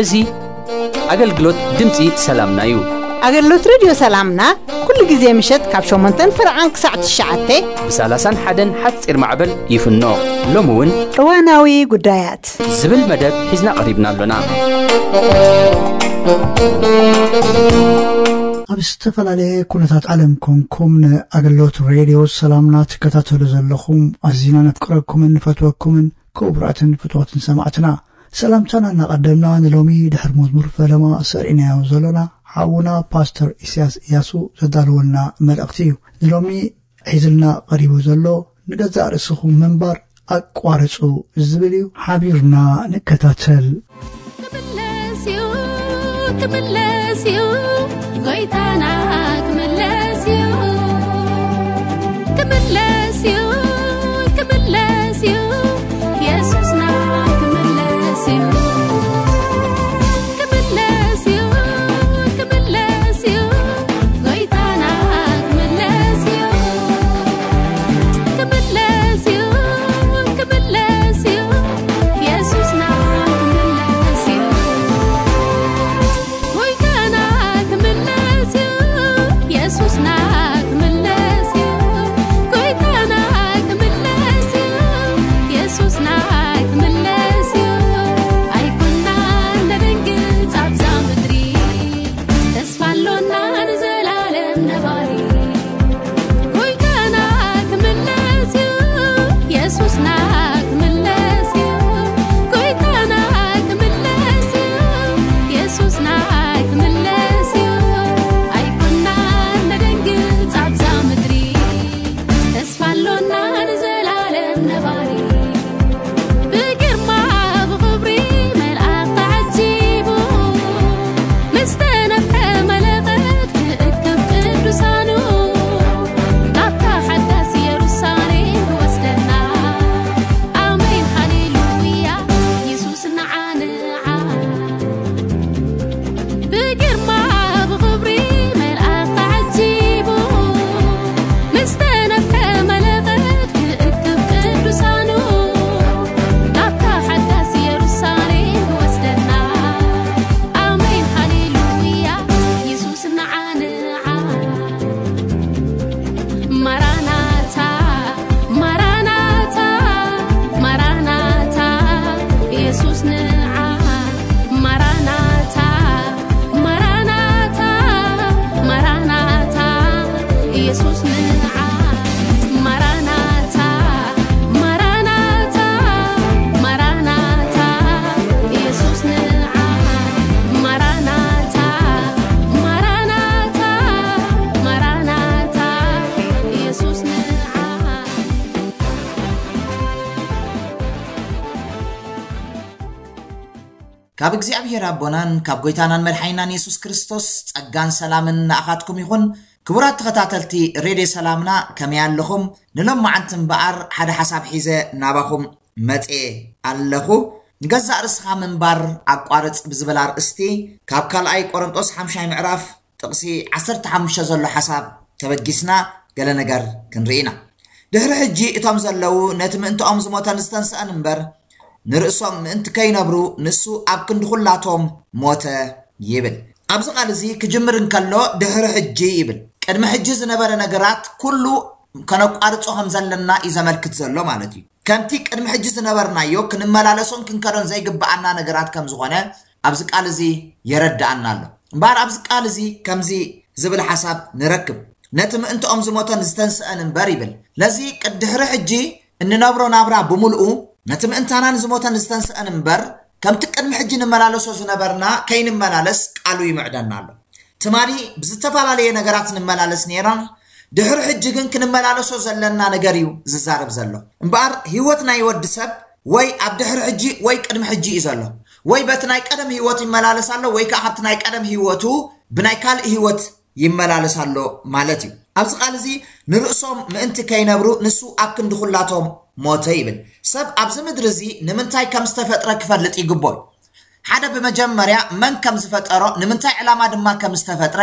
እዚ ኣገልግሎት ድምፂ ሰላምና እዩ። ኣገልግሎት ሬድዮ ሰላምና ኩሉ ግዜ ምሸት ካብ ሸሞንተን ፍርዓን ክሳዕ ትሽዓተ ብ ሰላሳን ሓደን ሓፂር ማዕበል ይፍኖ። ሎሚ እውን እዋናዊ ጉዳያት ዝብል መደብ ሒዝና ቀሪብና ኣሎና። ኣብ ዝተፈላለየ ኩነታት ዓለም ኮንኩም ንኣገልግሎት ሬድዮ ሰላምና ትከታተሉ ዘለኹም ኣዚና ነፍቅረኩምን ንፈትወኩምን ክቡራትን ፍትወትን ሰማዕትና፣ ሰላምታና እናቐደምና ንሎሚ ድሕሪ መዝሙር ፈለማ ሰሪዕናዮ ዘሎና ሓውና ፓስተር ኢሳያስ እያሱ ዘዳለወልና መልእኽቲ እዩ። ንሎሚ ሒዝልና ቀሪቡ ዘሎ ንገዛእ ርእስኹም ምንባር ኣቋርጹ ዝብል እዩ። ሓቢርና ንከታተል። ክምለስ እዩ፣ ክምለስ እዩ፣ ጎይታና ክምለስ እዩ። ክምለስ እዩ፣ ክምለስ እዩ፣ የሱስና ክምለስ እዩ። ክምለስ እዩ፣ ክምለስ እዩ፣ ጎይታና ክምለስ እዩ። ክምለስ እዩ፣ ክምለስ እዩ፣ የሱስና ክምለስ እዩ። ጎይታና ክምለስ እዩ፣ የሱስና ክምለስ እዩ። ጎይታና ክምለስ እዩ፣ የሱስና ክምለስ እዩ። ኣይኮናን ነደንግጽ ኣብዛ ምድሪ፣ ተስፋ ኣሎና ንዘላለም ነባሪ። ጎይታና ክምለስ እዩ፣ የሱስና ክምለስ እዩ። ጎይታና ክምለስ እዩ፣ የሱስና ክምለስ እዩ። ኣይኮናን ነደንግጽ ኣብዛ ምድሪ፣ ተስፋ ኣሎና ንዘላለም ነባሪ። ብግርማ ብኽብሪ መልኣኽ ተዓጂቡ፣ ምስ ተነፍሐ መለኸት ክእክብ ቅዱሳኑ፣ ናብታ ሓዳስ ኢየሩሳሌም ክወስደና። ኣሜን ሃሌሉያ፣ የሱስ ንዓ ንዓ። ብግርማ ብኽብሪ መልኣኽ ተዓጂቡ፣ ምስ ተነፍሐ መለኸት ክእክብ ቅዱሳኑ፣ ናብታ ሓዳስ ኢየሩሳሌም ክወስደና። ኣሜን ሃሌሉያ፣ የሱስ ንዓ ንዓ። ማራናታ፣ ማራናታ፣ ማራናታ፣ የሱስ ንዓ። ማራናታ፣ ማራናታ፣ ማራናታ፣ የሱስ ንዓ። ማራናታ፣ ማራናታ፣ ማራናታ፣ የሱስ ንዓ። ማራናታ፣ ማራናታ፣ ማራናታ፣ የሱስ ንዓ። ካብ እግዚኣብሔር ኣቦናን ካብ ጎይታናን መድሓኒናን የሱስ ክርስቶስ ጸጋን ሰላምን ንኣኻትኩም ይኹን። ክቡራት ተኸታተልቲ ሬድዮ ሰላምና፣ ከመይ ኣለኹም? ንሎማዓንቲ እምበኣር ሓደ ሓሳብ ሒዘ ናባኹም መጽኤ ኣለኹ። ንገዛእ ርእስኻ ምንባር ኣቋርጽ ብዝብል ኣርእስቲ ካብ ካልኣይ ቆሮንጦስ ሓምሻይ ምዕራፍ ጥቕሲ ዓሰርተ ሓሙሽተ ዘሎ ሓሳብ ተበጊስና ገለ ነገር ክንርኢ ኢና። ድሕሪ ሕጂ እቶም ዘለዉ ነቲ ምእንትኦም ዝሞተን ዝተንስአን እምበር፣ ንርእሶም ምእንቲ ከይነብሩ ንሱ ኣብ ክንዲ ኩላቶም ሞተ ይብል። ኣብዚ ቃል እዚ ክጅምር እንከሎ ድሕሪ ሕጂ ይብል። ቅድሚ ሕጂ ዝነበረ ነገራት ኩሉ ከነቋርጾ ከም ዘለና እዩ ዘመልክት ዘሎ ማለት እዩ። ከምቲ ቅድሚ ሕጂ ዝነበርናዮ ክንመላለሶን ክንከዶን ዘይግብኣና ነገራት ከም ዝኾነ ኣብዚ ቃል እዚ የረድኣና ኣሎ። እምበኣር ኣብዚ ቃል እዚ ከምዚ ዝብል ሓሳብ ንረክብ፣ ነቲ ምእንትኦም ዝሞተን ዝተንስአን እምበር ይብል። ለዚ ቅድ-፣ ድሕሪ ሕጂ እንነብሮ ናብራ ብምልኡ ነቲ ምእንታናን ዝሞተን ዝተንስአን እምበር፣ ከምቲ ቅድሚ ሕጂ ንመላለሶ ዝነበርና ከይንመላለስ ቃሉ ይምዕደና ኣሎ። ትማሊ ብዝተፈላለየ ነገራት ንመላለስ ነይርና፣ ድሕሪ ሕጂ ግን ክንመላለሶ ዘለና ነገር እዩ ዝዛረብ ዘሎ። እምበኣር ህይወት ናይ ወዲ ሰብ ወይ ኣብ ድሕሪ ሕጂ ወይ ቅድሚ ሕጂ እዩ ዘሎ። ወይ በቲ ናይ ቀደም ህይወቱ ይመላለስ ኣሎ፣ ወይ ከኣ ካብቲ ናይ ቀደም ህይወቱ ብናይ ካልእ ህይወት ይመላለስ ኣሎ ማለት እዩ። ኣብዚ ቃል እዚ ንርእሶም ምእንቲ ከይነብሩ ንሱ ኣብ ክንዲ ኩላቶም ሞተ ይብል። ሰብ ኣብዚ ምድሪ እዚ ንምንታይ ከም ዝተፈጥረ ክፈልጥ ይግብኦ። ሓደ ብመጀመርያ መን ከም ዝፈጠሮ፣ ንምንታይ ዕላማ ድማ ከም ዝተፈጥረ፣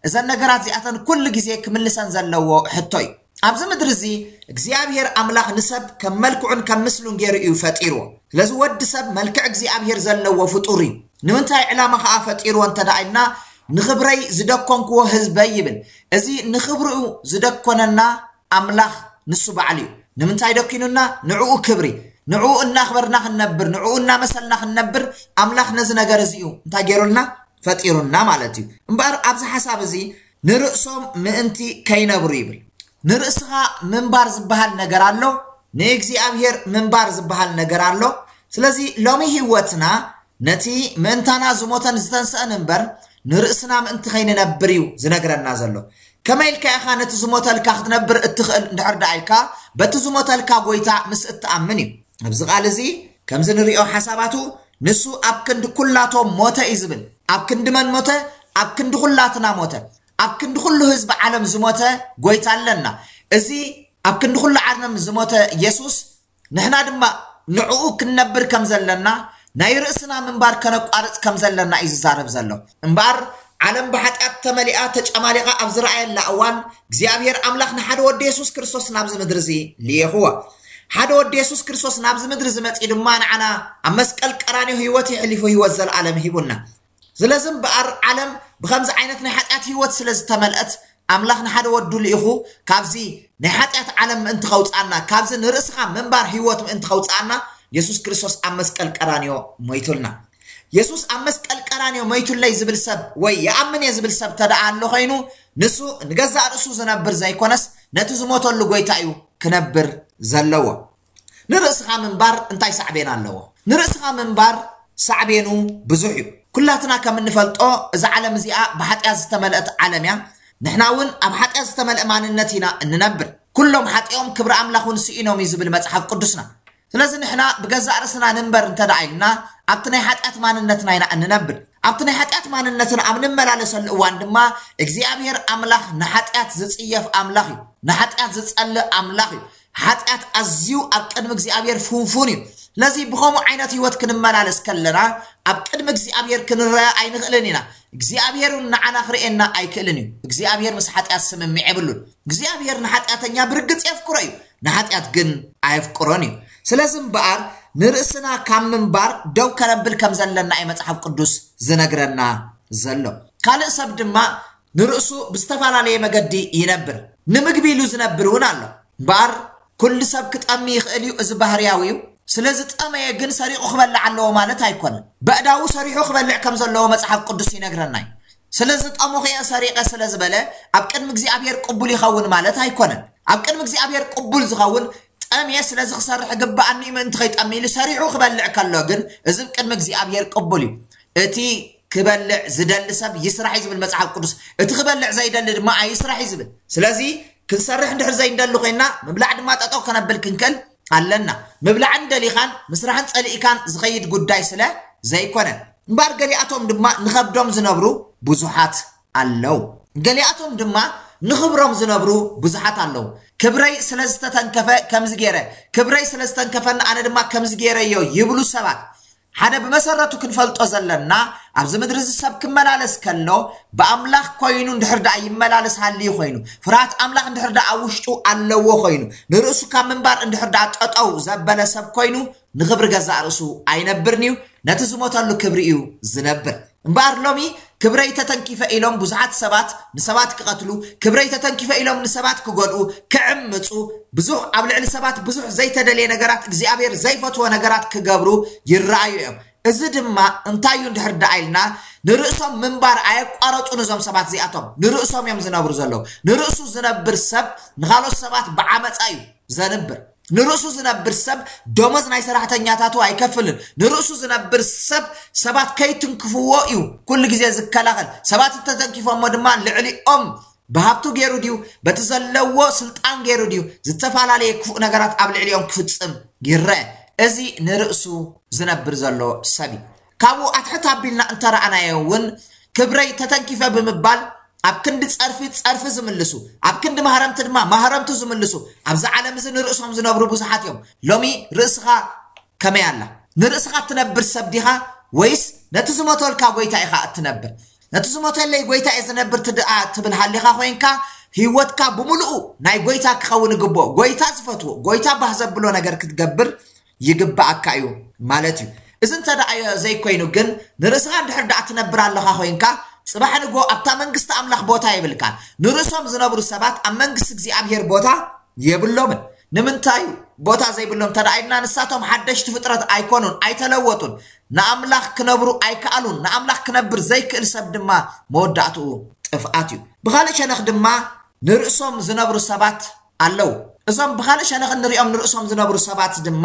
እዘን ነገራት እዚኣተን ኩሉ ግዜ ክምልሰን ዘለዎ ሕቶ እዩ። ኣብዚ ምድሪ እዚ እግዚኣብሔር ኣምላኽ ንሰብ ከም መልክዑን ከም ምስሉን ገይሩ እዩ ፈጢርዎ። ስለዚ ወዲ ሰብ መልክዕ እግዚኣብሔር ዘለዎ ፍጡር እዩ። ንምንታይ ዕላማ ከዓ ፈጢርዎ እንተ ደኣ ኢልና፣ ንኽብረይ ዝደኮንክዎ ህዝበይ ይብል። እዚ ንኽብርኡ ዝደኮነና ኣምላኽ ንሱ ባዕሉ እዩ። ንምንታይ ደኪኑና? ንዕኡ ክብሪ፣ ንዕኡ እናኽበርና ክንነብር፣ ንዕኡ እናመሰልና ክንነብር ኣምላኽ ነዚ ነገር እዚ እዩ እንታይ ገይሩልና? ፈጢሩና ማለት እዩ። እምበኣር ኣብዚ ሓሳብ እዚ ንርእሶም ምእንቲ ከይነብሩ ይብል። ንርእስኻ ምንባር ዝበሃል ነገር ኣሎ፣ ንእግዚኣብሔር ምንባር ዝበሃል ነገር ኣሎ። ስለዚ ሎሚ ህይወትና ነቲ ምእንታና ዝሞተን ዝተንስአን እምበር ንርእስና ምእንቲ ከይንነብር እዩ ዝነግረና ዘሎ። ከመይ ኢልካ ኢኻ ነቲ ዝሞተልካ ክትነብር እትኽእል እንድሕር ደኣ ኢልካ በቲ ዝሞተልካ ጎይታ ምስ እትኣምን እዩ። ኣብዚ ቃል እዚ ከምዚ ንሪኦ ሓሳባቱ ንሱ ኣብ ክንዲ ኩላቶም ሞተ እዩ ዝብል። ኣብ ክንዲ መን ሞተ? ኣብ ክንዲ ኩላትና ሞተ። ኣብ ክንዲ ኩሉ ህዝቢ ዓለም ዝሞተ ጎይታ ኣለና። እዚ ኣብ ክንዲ ኩሉ ዓለም ዝሞተ ኢየሱስ ንሕና ድማ ንዕኡ ክንነብር ከም ዘለና ናይ ርእስና ምንባር ከነቋርጽ ከም ዘለና እዩ ዝዛረብ ዘሎ። እምበኣር ዓለም ብሓጢኣት ተመሊኣ ተጨማሊቓ ኣብ ዝረኣየላ እዋን እግዚኣብሔር ኣምላኽ ንሓደ ወዲ የሱስ ክርስቶስ ናብዚ ምድሪ እዚ ልኢኽዎ። ሓደ ወዲ የሱስ ክርስቶስ ናብዚ ምድሪ እዚ መጺኡ ድማ ንዓና ኣብ መስቀል ቀራንዮ ህይወት የሕሊፉ ህይወት ዘለኣለም ሂቡና። ስለዚ እምበኣር ዓለም ብኸምዚ ዓይነት ናይ ሓጢኣት ህይወት ስለ ዝተመልአት ኣምላኽ ንሓደ ወዱ ልኢኹ ካብዚ ናይ ሓጢኣት ዓለም ምእንቲ ከውፅኣና፣ ካብዚ ንርእስኻ ምንባር ህይወት ምእንቲ ከውፅኣና የሱስ ክርስቶስ ኣብ መስቀል ቀራንዮ ሞይቱልና። የሱስ ኣብ መስቀል ቀራንዮ ሞይቱለይ ዝብል ሰብ ወይ ይኣምን እየ ዝብል ሰብ ተደኣ ኣሎ ኮይኑ ንሱ ንገዛእ ርእሱ ዝነብር ዘይኮነስ ነቲ ዝሞተሉ ጎይታ እዩ ክነብር ዘለዎ። ንርእስኻ ምንባር እንታይ ሳዕቤን ኣለዎ? ንርእስኻ ምንባር ሳዕቤኑ ብዙሕ እዩ። ኩላትና ከም እንፈልጦ እዛ ዓለም እዚኣ ብሓጢኣት ዝተመልአት ዓለም እያ። ንሕና እውን ኣብ ሓጢኣት ዝተመልአ ማንነት ኢና እንነብር። ኩሎም ሓጢኦም ክብሪ ኣምላኽ እውን ስኢኖም እዩ ዝብል መጽሓፍ ቅዱስና። ስለዚ ንሕና ብገዛእ ርእስና ንንበር እንተ ደኣ ኢልና ኣብቲ ናይ ሓጢኣት ማንነትና ኢና እንነብር። ኣብቲ ናይ ሓጢኣት ማንነትና ኣብ ንመላለሰሉ እዋን ድማ እግዚኣብሔር ኣምላኽ ንሓጢኣት ዝጽየፍ ኣምላኽ እዩ። ንሓጢኣት ዝጸልእ ኣምላኽ እዩ። ሓጢኣት ኣዝዩ ኣብ ቅድሚ እግዚኣብሔር ፍንፉን እዩ። ስለዚ ብኸምኡ ዓይነት ህይወት ክንመላለስ ከለና ኣብ ቅድሚ እግዚኣብሔር ክንረአ ኣይንኽእልን ኢና። እግዚኣብሔር እውን ንዓና ክርእየና ኣይክእልን እዩ። እግዚኣብሔር ምስ ሓጢኣት ስምምዕ የብሉን። እግዚኣብሔር ንሓጢኣተኛ ብርግጽ የፍቅሮ እዩ፣ ንሓጢኣት ግን ኣየፍቅሮን እዩ። ስለዚ እምበኣር ንርእስና ካብ ምንባር ደው ከነብል ከም ዘለና እዩ መጽሓፍ ቅዱስ ዝነግረና ዘሎ። ካልእ ሰብ ድማ ንርእሱ ብዝተፈላለየ መገዲ ይነብር። ንምግቢ ኢሉ ዝነብር እውን ኣሎ። እምበኣር ኩሉ ሰብ ክጠሚ ይኽእል እዩ፣ እዚ ባህርያዊ እዩ። ስለ ዝጠመየ ግን ሰሪቑ ክበልዕ ኣለዎ ማለት ኣይኮነን። በእዳዉ ሰሪሑ ክበልዕ ከም ዘለዎ መጽሓፍ ቅዱስ ይነግረና እዩ። ስለ ዝጠሙ ከየ ሰሪቐ ስለ ዝበለ ኣብ ቅድሚ እግዚኣብሔር ቅቡል ይኸውን ማለት ኣይኮነን። ኣብ ቅድሚ እግዚኣብሔር ቅቡል ዝኸውን ጠምየ ስለዚ ክሰርሕ ግብኣኒ ምእንቲ ከይጠሚ ኢሉ ሰሪሑ ክበልዕ ከሎ ግን እዚ ቅድሚ እግዚኣብሔር ቅቡል እዩ። እቲ ክበልዕ ዝደሊ ሰብ ይስራሕ እዩ ዝብል መጽሓፍ ቅዱስ። እቲ ክበልዕ ዘይደሊ ድማ ኣይስራሕ እዩ ዝብል። ስለዚ ክንሰርሕ እንድሕር ዘይንደሊ ኮይና ምብላዕ ድማ ጠጠው ከነብል ክንክእል ኣለና። ምብላዕን ደሊኻን ምስራሕን ጸሊእካን ዝኸይድ ጉዳይ ስለ ዘይኮነ። እምበኣር ገሊኣቶም ድማ ንኸብዶም ዝነብሩ ብዙሓት ኣለዉ። ገሊኣቶም ድማ ንኽብሮም ዝነብሩ ብዙሓት ኣለዉ። ክብረይ ስለ ዝተተንከፈ ከምዚ ገይረ፣ ክብረይ ስለ ዝተንከፈኒ ኣነ ድማ ከምዚ ገይረዮ ይብሉ ሰባት። ሓደ ብመሰረቱ ክንፈልጦ ዘለና ኣብዚ ምድሪ እዚ ሰብ ክመላለስ ከሎ ብኣምላኽ ኮይኑ እንድሕር ደኣ ይመላለስ ሃልዩ ኮይኑ ፍርሃት ኣምላኽ እንድሕር ደኣ ኣብ ውሽጡ ኣለዎ ኮይኑ ንርእሱ ካብ ምንባር እንድሕር ደኣ ጠጠው ዘበለ ሰብ ኮይኑ ንኽብሪ ገዛእ ርእሱ ኣይነብርን እዩ፣ ነቲ ዝሞተሉ ክብሪ እዩ ዝነብር። እምበኣር ሎሚ ክብረይ ተተንኪፈ ኢሎም ብዙሓት ሰባት ንሰባት ክቐትሉ፣ ክብረይ ተተንኪፈ ኢሎም ንሰባት ክጎድኡ፣ ክዕምፁ፣ ብዙሕ ኣብ ልዕሊ ሰባት ብዙሕ ዘይተደልየ ነገራት እግዚኣብሔር ዘይፈትዎ ነገራት ክገብሩ ይረኣዩ እዮም። እዚ ድማ እንታይ እዩ እንድሕር ደኣ ኢልና ንርእሶም ምንባር ኣየቋረፁን እዞም ሰባት እዚኣቶም ንርእሶም እዮም ዝነብሩ ዘለዉ። ንርእሱ ዝነብር ሰብ ንኻልኦት ሰባት ብዓመፃ እዩ ዘንብር። ንርእሱ ዝነብር ሰብ ደሞዝ ናይ ሰራሕተኛታቱ ኣይከፍልን። ንርእሱ ዝነብር ሰብ ሰባት ከይትንክፍዎ እዩ ኩሉ ግዜ ዝከላኸል። ሰባት እንተተንኪፎሞ ድማ ልዕሊኦም ብሃብቱ ገይሩ ድዩ በቲ ዘለዎ ስልጣን ገይሩ ድዩ ዝተፈላለየ ክፉእ ነገራት ኣብ ልዕሊኦም ክፍጽም ይረአ። እዚ ንርእሱ ዝነብር ዘሎ ሰብ እዩ። ካብኡ ኣትሕት ኣቢልና እንተረኣናዮ እውን ክብረይ ተተንኪፈ ብምባል ኣብ ክንዲ ጸርፊ ጸርፊ ዝምልሱ፣ ኣብ ክንዲ ማህረምቲ ድማ ማህረምቱ ዝምልሱ ኣብዚ ዓለም እዚ ንርእሶም ዝነብሩ ብዙሓት እዮም። ሎሚ ርእስኻ ከመይ ኣላ? ንርእስኻ እትነብር ሰብ ዲኻ ወይስ ነቲ ዝሞተልካ ጎይታ ኢኻ እትነብር? ነቲ ዝሞተለይ ጎይታ እየ ዝነብር ትድኣ ትብል ሃሊኻ ኮይንካ፣ ህይወትካ ብምሉኡ ናይ ጎይታ ክኸውን ይግብኦ። ጎይታ ዝፈትዎ፣ ጎይታ ባህ ዘብሎ ነገር ክትገብር ይግብኣካ እዩ ማለት እዩ። እዚ እንተ ደኣ ዘይኮይኑ ግን፣ ንርእስኻ እንድሕር ደኣ ትነብር ኣለኻ ኮይንካ፣ ጽባሕ ንግሆ ኣብታ መንግስቲ ኣምላኽ ቦታ የብልካን። ንርእሶም ዝነብሩ ሰባት ኣብ መንግስቲ እግዚኣብሔር ቦታ የብሎምን። ንምንታይ እዩ ቦታ ዘይብሎም እንተ ደኣ ኢልና፣ ንሳቶም ሓደሽቲ ፍጥረት ኣይኮኑን፣ ኣይተለወጡን። ንኣምላኽ ክነብሩ ኣይከኣሉን። ንኣምላኽ ክነብር ዘይክእል ሰብ ድማ መወዳእትኡ ጥፍኣት እዩ። ብኻልእ ሸነኽ ድማ ንርእሶም ዝነብሩ ሰባት ኣለዉ። እዞም ብኻልእ ሸነኽ እንሪኦም ንርእሶም ዝነብሩ ሰባት ድማ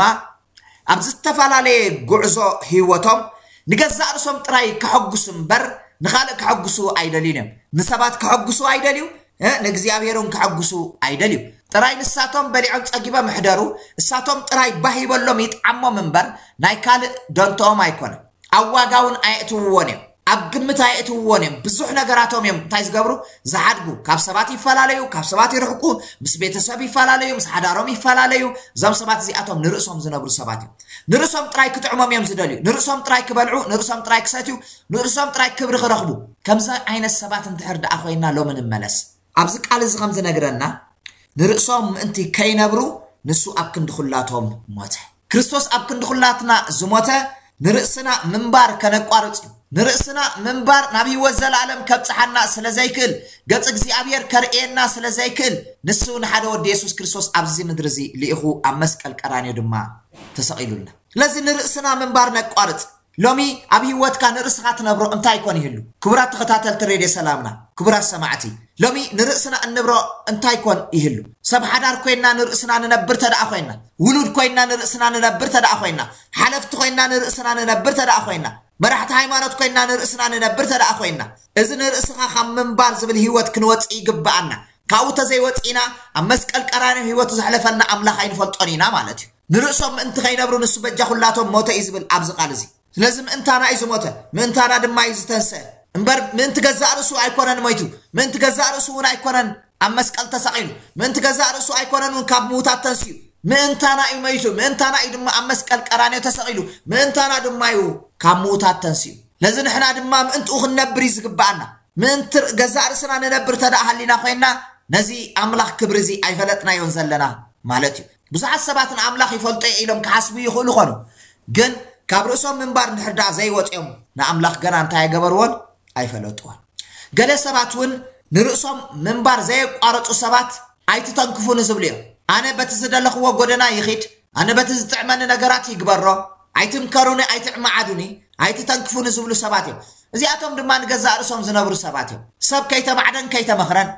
ኣብ ዝተፈላለየ ጉዕዞ ህይወቶም ንገዛእ ርእሶም ጥራይ ከሐጉሱ እምበር ንኻልእ ከሐጉሱ ኣይደልዩን እዮም። ንሰባት ከሐጉሱ ኣይደልዩ፣ እ፣ ንእግዚኣብሔር እውን ከሐጉሱ ኣይደልዩ። ጥራይ ንሳቶም በሊዖም ጸጊቦም ይሕደሩ፣ እሳቶም ጥራይ ባህ ይበሎም ይጥዓሞም እምበር ናይ ካልእ ደንተኦም ኣይኮነን። ኣብ ዋጋ እውን ኣየእትውዎን እዮም፣ ኣብ ግምት ኣየእትውዎን እዮም። ብዙሕ ነገራቶም እዮም እንታይ ዝገብሩ? ዝሓድጉ። ካብ ሰባት ይፈላለዩ፣ ካብ ሰባት ይርሕቁ፣ ምስ ቤተሰብ ይፈላለዩ፣ ምስ ሓዳሮም ይፈላለዩ። እዞም ሰባት እዚኣቶም ንርእሶም ዝነብሩ ሰባት እዮም። ንርእሶም ጥራይ ክጥዕሞም እዮም ዝደልዩ። ንርእሶም ጥራይ ክበልዑ፣ ንርእሶም ጥራይ ክሰትዩ፣ ንርእሶም ጥራይ ክብሪ ክረኽቡ። ከምዚ ዓይነት ሰባት እንድሕር ደኣ ኮይና ሎሚ ንመለስ። ኣብዚ ቃል እዚ ከም ዝነግረና፣ ንርእሶም ምእንቲ ከይነብሩ ንሱ ኣብ ክንዲ ኩላቶም ሞተ። ክርስቶስ ኣብ ክንዲ ኩላትና ዝሞተ ንርእስና ምንባር ከነቋርጽ እዩ። ንርእስና ምንባር ናብ ህይወት ዘለኣለም ከብጽሓና ስለ ዘይክእል፣ ገጽ እግዚኣብሔር ከርእየና ስለ ዘይክእል፣ ንሱ ንሓደ ወዲ የሱስ ክርስቶስ ኣብዚ ምድሪ እዚ ልኢኹ ኣብ መስቀል ቀራንዮ ድማ ተሰቒሉልና። ስለዚ ንርእስና ምንባር ነቋርጽ። ሎሚ ኣብ ህይወትካ ንርእስኻ ትነብሮ እንታይ ኮን ይህሉ? ክቡራት ተኸታተልቲ ሬድዮ ሰላምና፣ ክቡራት ሰማዕቲ፣ ሎሚ ንርእስና እንብሮ እንታይ ኮን ይህሉ? ሰብ ሓዳር ኮይና ንርእስና ንነብር ተደኣ ኮይና፣ ውሉድ ኮይና ንርእስና ንነብር ተደኣ ኮይና፣ ሓለፍቲ ኮይና ንርእስና ንነብር ተደኣ ኮይና፣ መራሕቲ ሃይማኖት ኮይና ንርእስና ንነብር ተደኣ ኮይና፣ እዚ ንርእስኻ ካብ ምንባር ዝብል ህይወት ክንወጽእ ይግብኣና። ካብኡ ተዘይወጺእና ኣብ መስቀል ቀራንዮ ህይወቱ ዘሕለፈልና ኣምላኽ ኣይንፈልጦን ኢና ማለት እዩ። ንርእሶም ምእንቲ ከይነብሩ ንሱ በጃ ኩላቶም ሞተ እዩ ዝብል ኣብዚ ቃል እዚ። ስለዚ ምእንታና እዩ ዝሞተ፣ ምእንታና ድማ እዩ ዝተንስአ። እምበር ምእንቲ ገዛእ ርእሱ ኣይኮነን ሞይቱ፣ ምእንቲ ገዛእ ርእሱ እውን ኣይኮነን ኣብ መስቀል ተሰቒሉ፣ ምእንቲ ገዛእ ርእሱ ኣይኮነን እውን ካብ ምዉታት ተንስኡ። ምእንታና እዩ ሞይቱ፣ ምእንታና እዩ ድማ ኣብ መስቀል ቀራንዮ ተሰቒሉ፣ ምእንታና ድማ እዩ ካብ ምዉታት ተንስኡ። ስለዚ ንሕና ድማ ምእንትኡ ክንነብር እዩ ዝግብኣና። ምእንቲ ገዛእ ርእስና ንነብር ተደኣ ሃሊና ኮይንና፣ ነዚ ኣምላኽ ክብሪ እዚ ኣይፈለጥናዮን ዘለና ማለት እዩ። ብዙሓት ሰባት ንኣምላኽ ይፈልጦ እየ ኢሎም ክሓስቡ ይኽእሉ ኾኑ፣ ግን ካብ ርእሶም ምንባር እንድሕር ደኣ ዘይወፅኦም ንኣምላኽ ገና እንታይ ኣይገበርዎን? ኣይፈለጥዎን። ገለ ሰባት እውን ንርእሶም ምንባር ዘየቋረፁ ሰባት ኣይትተንክፉኒ ዝብሉ እዮም። ኣነ በቲ ዝደለኽዎ ጎደና ይኺድ፣ ኣነ በቲ ዝጥዕመኒ ነገራት ይግበሮ፣ ኣይትምከሩኒ፣ ኣይትዕመዓዱኒ፣ ኣይትተንክፉኒ ዝብሉ ሰባት እዮም። እዚኣቶም ድማ ንገዛእ ርእሶም ዝነብሩ ሰባት እዮም። ሰብ ከይተማዕደን ከይተመኽረን፣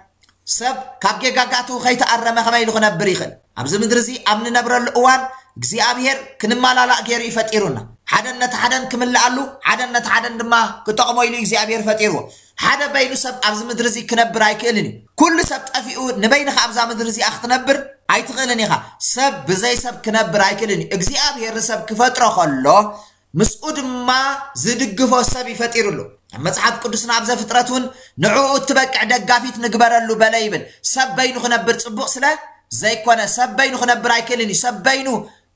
ሰብ ካብ ጌጋ ጋቱ ከይተኣረመ ከመይ ኢሉ ክነብር ይኽእል? ኣብዚ ምድሪ እዚ ኣብ ንነብረሉ እዋን እግዚኣብሔር ክንመላላእ ገይሩ እዩ ፈጢሩና። ሓደን ነቲ ሓደን ክምልኣሉ፣ ሓደን ነቲ ሓደን ድማ ክጠቕሞ ኢሉ እግዚኣብሔር ፈጢርዎ። ሓደ በይኑ ሰብ ኣብዚ ምድሪ እዚ ክነብር ኣይክእልን እዩ። ኩሉ ሰብ ጠፊኡ ንበይንኻ ኣብዛ ምድሪ እዚኣ ክትነብር ኣይትኽእልን ኢኻ። ሰብ ብዘይ ሰብ ክነብር ኣይክእልን እዩ። እግዚኣብሔር ንሰብ ክፈጥሮ ከሎ ምስኡ ድማ ዝድግፎ ሰብ ይፈጢሩሉ። ኣብ መጽሓፍ ቅዱስና ኣብ ዘፍጥረት እውን ንዕኡ እትበቅዕ ደጋፊት ንግበረሉ በለ ይብል። ሰብ በይኑ ክነብር ጽቡቕ ስለ ዘይኮነ፣ ሰብ በይኑ ክነብር ኣይክእልን እዩ። ሰብ በይኑ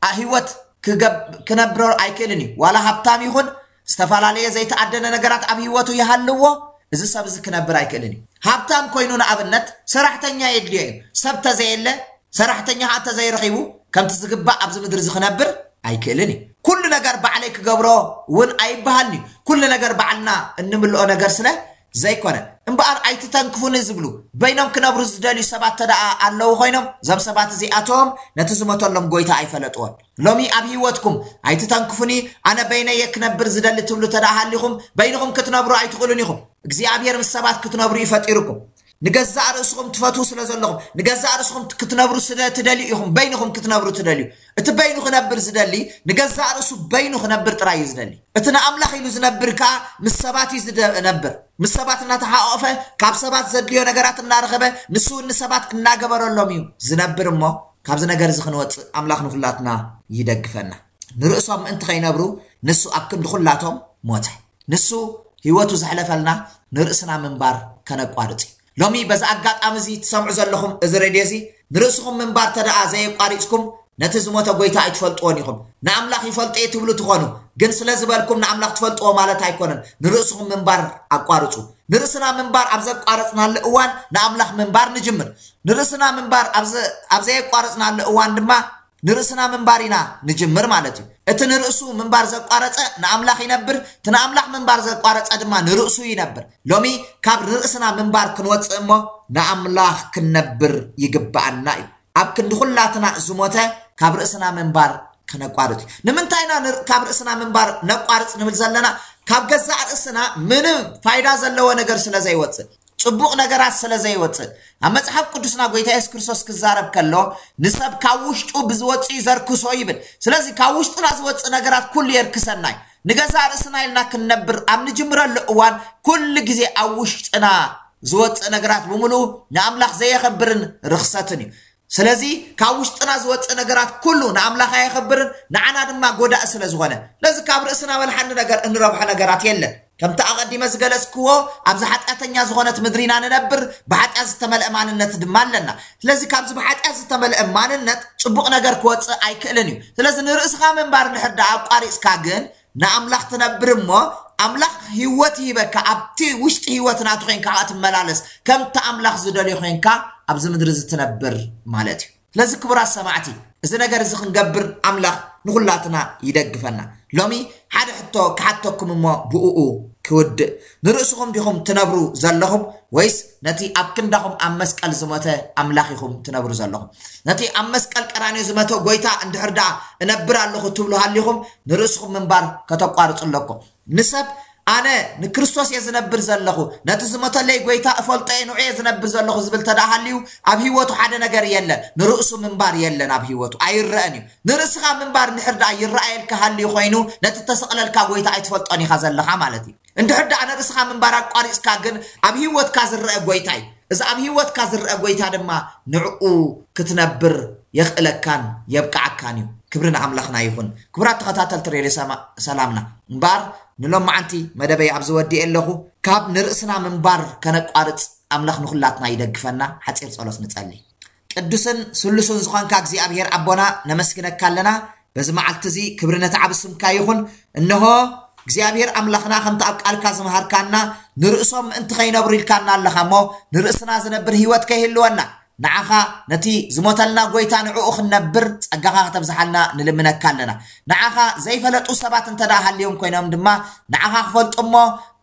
ኣ-፣ ህይወት ክገብ-፣ ክነብሮ ኣይክእልን እዩ። ዋላ ሃብታም ይኹን ዝተፈላለየ ዘይተኣደነ ነገራት ኣብ ህይወቱ ይሃልዎ፣ እዚ ሰብ እዚ ክነብር ኣይክእልን እዩ። ሃብታም ኮይኑ ንኣብነት ሰራሕተኛ የድልዮ እዩ። ሰብ ተዘየለ፣ ሰራሕተኛ ኸዓ እንተዘይረኺቡ ከምቲ ዝግባእ ኣብዚ ምድሪ እዚ ክነብር ኣይክእልን እዩ። ኩሉ ነገር ባዕለይ ክገብሮ እውን ኣይበሃልን እዩ። ኩሉ ነገር ባዕልና እንምልኦ ነገር ስለ ዘይኮነ። እምበኣር ኣይትተንክፉኒ ዝብሉ በይኖም ክነብሩ ዝደልዩ ሰባት ተደኣ ኣለዉ ኮይኖም፣ እዞም ሰባት እዚኣቶም ነቲ ዝሞተሎም ጎይታ ኣይፈለጥዎን። ሎሚ ኣብ ህይወትኩም ኣይትተንክፉኒ፣ ኣነ በይነየ ክነብር ዝደሊ ትብሉ ተደኣ ሃሊኹም፣ በይንኹም ክትነብሩ ኣይትኽእሉን ኢኹም። እግዚኣብሔር ምስ ሰባት ክትነብሩ እዩ ፈጢሩኩም። ንገዛእ ርእስኹም ትፈትዉ ስለ ዘለኹም፣ ንገዛእ ርእስኹም ክትነብሩ ስለ ትደልዩ ኢኹም በይንኹም ክትነብሩ ትደልዩ። እቲ በይኑ ክነብር ዝደሊ፣ ንገዛእ ርእሱ በይኑ ክነብር ጥራይ እዩ ዝደሊ። እቲ ንኣምላኽ ኢሉ ዝነብር ከኣ ምስ ሰባት እዩ ዝነብር። ምስ ሰባት እናተሓቆፈ፣ ካብ ሰባት ዘድልዮ ነገራት እናረኸበ፣ ንሱ እውን ንሰባት እናገበረሎም እዩ ዝነብር። እሞ ካብዚ ነገር እዚ ክንወጽእ ኣምላኽ ንኹላትና ይደግፈና። ንርእሶም ምእንቲ ከይነብሩ ንሱ ኣብ ክንዲ ኩላቶም ሞተ። ንሱ ህይወቱ ዘሕለፈልና ንርእስና ምንባር ከነቋርጽ እዩ። ሎሚ በዚ ኣጋጣሚ እዚ ትሰምዑ ዘለኹም እዚ ሬድዮ እዚ ንርእስኹም ምንባር ተደኣ ዘየቋሪጽኩም ነቲ ዝሞተ ጎይታ ኣይትፈልጥዎን ኢኹም። ንኣምላኽ ይፈልጦ እየ ትብሉ ትኾኑ፣ ግን ስለ ዝበልኩም ንኣምላኽ ትፈልጥዎ ማለት ኣይኮነን። ንርእስኹም ምንባር ኣቋርጹ። ንርእስና ምንባር ኣብ ዘቋረጽናሉ እዋን ንኣምላኽ ምንባር ንጅምር። ንርእስና ምንባር ኣብ ዘ-፣ ኣብ ዘየቋረጽናሉ እዋን ድማ ንርእስና ምንባር ኢና ንጅምር ማለት እዩ። እቲ ንርእሱ ምንባር ዘቋረጸ ንኣምላኽ ይነብር፣ እቲ ንኣምላኽ ምንባር ዘቋረጸ ድማ ንርእሱ ይነብር። ሎሚ ካብ ንርእስና ምንባር ክንወጽእ እሞ ንኣምላኽ ክንነብር ይግብኣና እዩ። ኣብ ክንዲ ኩላትና ዝሞተ ካብ ርእስና ምንባር ከነቋርጽ እዩ። ንምንታይ ኢና ንር-፣ ካብ ርእስና ምንባር ነቋርጽ ንብል ዘለና? ካብ ገዛእ ርእስና ምንም ፋይዳ ዘለዎ ነገር ስለ ዘይወጽእ፣ ጽቡቕ ነገራት ስለ ዘይወጽእ። ኣብ መጽሓፍ ቅዱስና ጎይታ የሱስ ክርስቶስ ክዛረብ ከሎ ንሰብ ካብ ውሽጡ ብዝወጽእ እዩ ዘርክሶ ይብል። ስለዚ ካብ ውሽጥና ዝወጽእ ነገራት ኩሉ የርክሰና እዩ። ንገዛእ ርእስና ኢልና ክንነብር ኣብ ንጅምረሉ እዋን ኩሉ ግዜ ኣብ ውሽጥና ዝወጽእ ነገራት ብምሉኡ ንኣምላኽ ዘየኸብርን ርኽሰትን እዩ። ስለዚ ካብ ውሽጥና ዝወጽእ ነገራት ኩሉ ንኣምላኽ ኣየኸብርን ንዓና ድማ ጎዳእ ስለ ዝኾነ። ስለዚ ካብ ርእስና በልሓኒ ነገር እንረብሖ ነገራት የለን። ከምቲ ኣቐዲመ ዝገለጽክዎ ኣብዚ ሓጢኣተኛ ዝኾነት ምድሪ ኢና ንነብር፣ ብሓጢኣት ዝተመልአ ማንነት ድማ ኣለና። ስለዚ ካብዚ ብሓጢኣት ዝተመልአ ማንነት ጽቡቕ ነገር ክወጽእ ኣይክእልን እዩ። ስለዚ ንርእስኻ ምንባር እንድሕር ደኣ ኣቋሪጽካ ግን ንኣምላኽ ትነብር እሞ ኣምላኽ ህይወት ይህበካ። ኣብቲ ውሽጢ ህይወት ናቱ ኮይንካ ከኣ ትመላለስ። ከምቲ ኣምላኽ ዝደልዮ ኮይንካ ኣብዚ ምድሪ እዚ ትነብር ማለት እዩ። ስለዚ ክቡራት ሰማዕቲ፣ እዚ ነገር እዚ ክንገብር ኣምላኽ ንኹላትና ይደግፈና። ሎሚ ሓደ ሕቶ ክሓተኩም እሞ ብእኡ ክውድእ። ንርእስኹም ዲኹም ትነብሩ ዘለኹም ወይስ ነቲ ኣብ ክንዳኹም ኣብ መስቀል ዝሞተ ኣምላኽ ኢኹም ትነብሩ ዘለኹም? ነቲ ኣብ መስቀል ቀራንዮ ዝመተ ጎይታ እንድሕር ደኣ እነብር ኣለኹ ትብሉ ሃሊኹም ንርእስኹም ምንባር ከተቋርጹ ኣለኩም። ንሰብ ኣነ ንክርስቶስ እየ ዝነብር ዘለኹ፣ ነቲ ዝሞተለይ ጎይታ እፈልጦ እየ፣ ንዑ እየ ዝነብር ዘለኹ ዝብል ተደኣ ሃልዩ ኣብ ህይወቱ ሓደ ነገር የለን። ንርእሱ ምንባር የለን ኣብ ህይወቱ፣ ኣይረአን እዩ። ንርእስኻ ምንባር እንድሕር ደኣ ይረኣየልካ ሃልዩ ኮይኑ ነቲ ተሰቕለልካ ጎይታ ኣይትፈልጦን ኢኻ ዘለኻ ማለት እዩ። እንድሕር ደኣ ንርእስኻ ምንባር ኣቋሪጽካ ግን ኣብ ህይወትካ ዝረአ ጎይታ እዩ። እዚ ኣብ ህይወትካ ዝረአ ጎይታ ድማ ንዕኡ ክትነብር የኽእለካን የብቅዓካን እዩ። ክብሪ ንኣምላኽና ይኹን። ክቡራት ተኸታተልቲ ሬድዮ ሰማ-፣ ሰላምና፣ እምበኣር ንሎማዓንቲ መደበይ ኣብዚ ወዲኤ ኣለኹ። ካብ ንርእስና ምንባር ከነቋርጽ ኣምላኽ ንኹላትና ይደግፈና። ሓጺር ጸሎት ንጸሊ። ቅዱስን ስሉስን ዝኾንካ እግዚኣብሔር ኣቦና፣ ነመስግነካ ኣለና። በዚ መዓልቲ እዚ ክብሪ ነቲ ዓቢ ስምካ ይኹን። እንሆ እግዚኣብሔር ኣምላኽና፣ ከምቲ ኣብ ቃልካ ዝመሃርካና፣ ንርእሶም ምእንቲ ከይነብሩ ኢልካና ኣለኻ እሞ፣ ንርእስና ዝነብር ህይወት ከይህልወና፣ ንዓኻ ነቲ ዝሞተልና ጎይታ ንዕኡ ክንነብር ጸጋኻ ከተብዝሓልና ንልምነካ ኣለና። ንዓኻ ዘይፈለጡ ሰባት እንተ ደኣ ሃልዮም ኮይኖም ድማ፣ ንዓኻ ክፈልጡ እሞ፣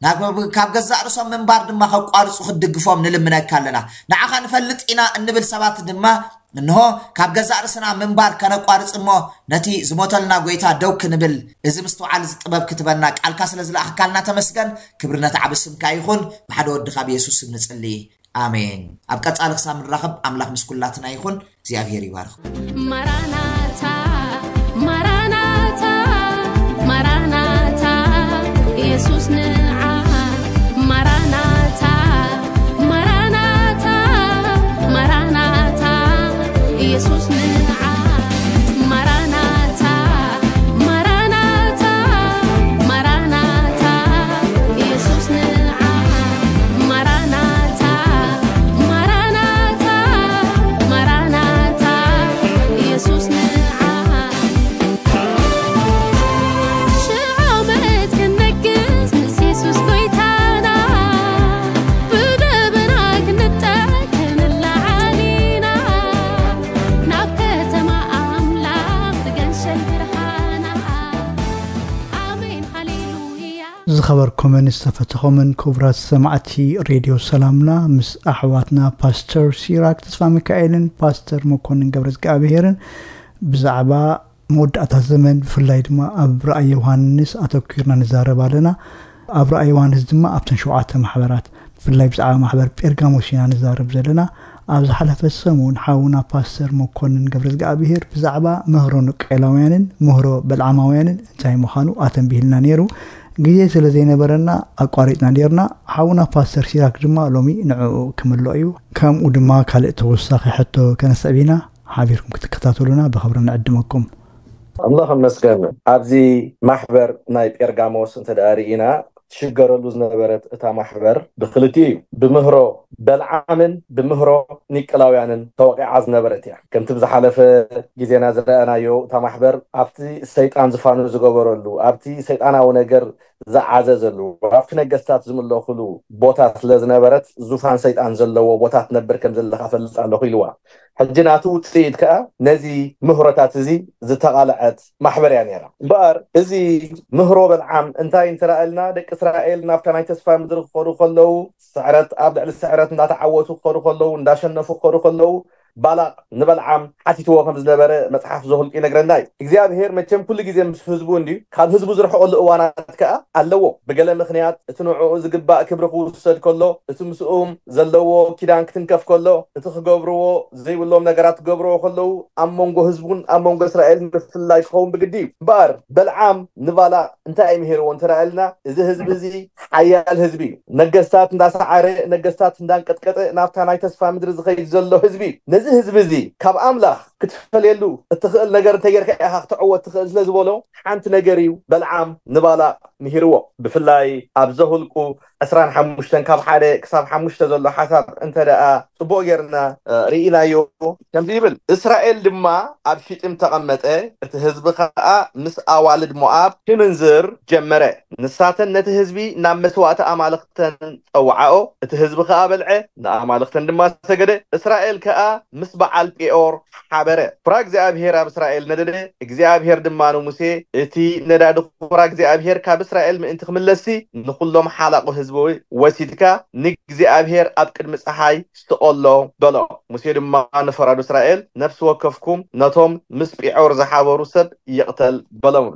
ናብ፣ ካብ ገዛእ ርእሶም ምንባር ድማ ከቋርጹ ክትድግፎም ንልምነካ ኣለና። ንዓኻ ንፈልጥ ኢና እንብል ሰባት ድማ፣ እንሆ፣ ካብ ገዛእ ርእስና ምንባር ከነቋርጽ እሞ፣ ነቲ ዝሞተልና ጎይታ ደው ክንብል፣ እዚ ምስትውዓል፣ እዚ ጥበብ ክትበና ቃልካ ስለ ዝለኣኽካልና ተመስገን። ክብሪ ነቲ ዓቢ ስምካ ይኹን። ብሓደ ወድኻ ብየሱስ ስም ንጽሊ። ኣሜን። ኣብ ቀጻሊ ክሳብ ንራኸብ ኣምላኽ ምስ ኩላትና ይኹን። እግዚኣብሔር ይባርኽ። ማራናታ፣ ማራናታ፣ ማራናታ፣ ኢየሱስ ንዓ። ማራናታ፣ ማራናታ፣ ማራናታ፣ ኢየሱስ ንዓ። ማራናታ፣ ማራናታ፣ ማራናታ፣ ኢየሱስ ንዓ። ማራናታ፣ ማራናታ፣ ማራናታ፣ ኢየሱስ ንዓ። ሽሕ ዓመት ክንነግስ ምስ የሱስ ጎይታና፣ ብደበና ክንጠ-፣ ክንለዓል ኢና፣ ናብ ከተማ ኣምላኽ ትገንሸል ብርሃና። ኣሜን ሃሌሉያ። ዝኸበርኩምን ዝተፈተኹምን ክቡራት ሰማዕቲ ሬድዮ ሰላምና፣ ምስ ኣሕዋትና ፓስተር ሲራክ ተስፋ ሚካኤልን ፓስተር መኮንን ገብረ እግዚኣብሔርን ብዛዕባ መወዳእታ ዘመን፣ ብፍላይ ድማ ኣብ ራእይ ዮሃንስ ኣተኲርና ንዛረብ ኣለና። ኣብ ራእይ ዮሃንስ ድማ ኣብተን ሸውዓተ ማሕበራት፣ ብፍላይ ብዛዕባ ማሕበር ጴርጋሞስ ኢና ንዛረብ ዘለና። ኣብ ዝሓለፈ ሰሙን ሓውና ፓስተር መኮንን ገብረ እግዚኣብሔር ብዛዕባ ምህሮ ንቄላውያንን ምህሮ በልዓማውያንን እንታይ ምዃኑ ኣተንቢህልና ነይሩ። ግዜ ስለ ዘይነበረና ኣቋሪጥና ነይርና። ሓውና ፓስተር ሲራክ ድማ ሎሚ ንዕኡ ክምልኦ እዩ። ከምኡ ድማ ካልእ ተወሳኺ ሕቶ ከነስዕብ ኢና። ሓቢርኩም ክትከታተሉና ብኽብሪ ንዕድመኩም። ኣምላኽ ይመስገን። ኣብዚ ማሕበር ናይ ጴርጋሞስ እንተ ደኣ ርኢና፣ ትሽገረሉ ዝነበረት እታ ማሕበር ብክልቲኡ እዩ። ብምህሮ በልዓምን ብምህሮ ኒቅላውያንን ተወቂዓ ዝነበረት እያ። ከምቲ ብዝሓለፈ ግዜና ዝረኣናዮ፣ እታ ማሕበር ኣብቲ ሰይጣን ዝፋኑ ዝገበረሉ፣ ኣብቲ ሰይጣናዊ ነገር ዝዓዘዘሉ፣ ኣብቲ ነገስታት ዝምለኹሉ ቦታ ስለ ዝነበረት፣ ዙፋን ሰይጣን ዘለዎ ቦታ ትነብር ከም ዘለኻ ፈልጥ ኣለኹ ኢልዋ። ሕጂ ናቱ ውፅኢት ከዓ ነዚ ምህሮታት እዚ ዝተቓልዐት ማሕበር እያ ነይራ። እምበኣር እዚ ምህሮ በልዓም እንታይ እንተረኣልና፣ ደቂ እስራኤል ናብታ ናይ ተስፋ ምድሪ ክኸዱ ከለዉ፣ ስዕረት ኣብ ልዕሊ ስዕረት እንዳተዓወቱ ክኸዱ ከለዉ፣ እንዳሸነፉ ክኸዱ ከለዉ፣ ባላቅ ንበልዓም ሓቲትዎ ከም ዝነበረ መጽሓፍ ዘሁልቅ ይነግረና እዩ። እግዚኣብሔር መቸም ኩሉ ግዜ ምስ ህዝቡ እንድዩ። ካብ ህዝቡ ዝርሕቀሉ እዋናት ከኣ ኣለዎ። ብገለ ምኽንያት እቲ ንዕኡ ዝግባእ ክብሪ ክውሰድ ከሎ፣ እቲ ምስኡም ዘለዎ ኪዳን ክትንከፍ ከሎ፣ እቲ ክገብርዎ ዘይብሎም ነገራት ክገብርዎ ከለዉ፣ ኣብ መንጎ ህዝቡን ኣብ መንጎ እስራኤል ምፍልላይ ክኸውን ብግዲ እዩ። እምበኣር በልዓም ንባላቅ እንታይ እዩ ምሂርዎ እንተረኣልና፣ እዚ ህዝቢ እዚ ሓያል ህዝቢ እዩ። ነገስታት እንዳሰዓረ፣ ነገስታት እንዳንቀጥቀጠ ናብታ ናይ ተስፋ ምድሪ ዝኸይድ ዘሎ ህዝቢ እዩ። ነዚ ህዝቢ እዚ ካብ ኣምላኽ ክትፈልየሉ እትኽእል ነገር እንተጌርካ ኢኻ ክትዕወት ትኽእል ስለ ዝበሎ፣ ሓንቲ ነገር እዩ በልዓም ንባላቅ ምሂርዎ። ብፍላይ ኣብ ዘሁልቁ ዕስራን ሓሙሽተን ካብ ሓደ ክሳብ ሓሙሽተ ዘሎ ሓሳብ እንተ ደኣ ጽቡቕ ጌርና፣ እ፣ ርኢናዮ። ከምዚ ይብል፣ እስራኤል ድማ ኣብ ሽጢም ተቐመጠ፣ እቲ ህዝቢ ኸኣ ምስ ኣዋልድ ሞኣብ ክምንዝር ጀመረ። ንሳተን ነቲ ህዝቢ ናብ መስዋእቲ ኣማልኽተን ጸውዓኦ፣ እቲ ህዝቢ ኸኣ በልዐ፣ ንኣማልኽተን ድማ ሰገደ። እስራኤል ከኣ ምስ በዓል ጴኦር ሓበረ። ፍራ እግዚኣብሔር ኣብ እስራኤል ነደደ። እግዚኣብሔር ድማ ንሙሴ፣ እቲ ነዳዲ ፍራ እግዚኣብሔር ካብ እስራኤል ምእንቲ ክምለስሲ፣ ንኹሎም ሓላቑ ህዝቢ ወሲድካ ንእግዚኣብሔር ኣብ ቅድሚ ጸሓይ ስቐሎ በሎ። ሙሴ ድማ ንፈራዶ እስራኤል፣ ነፍሲ ወከፍኩም ነቶም ምስ ጲዖር ዝሓበሩ ሰብ ይቕተል በሎም።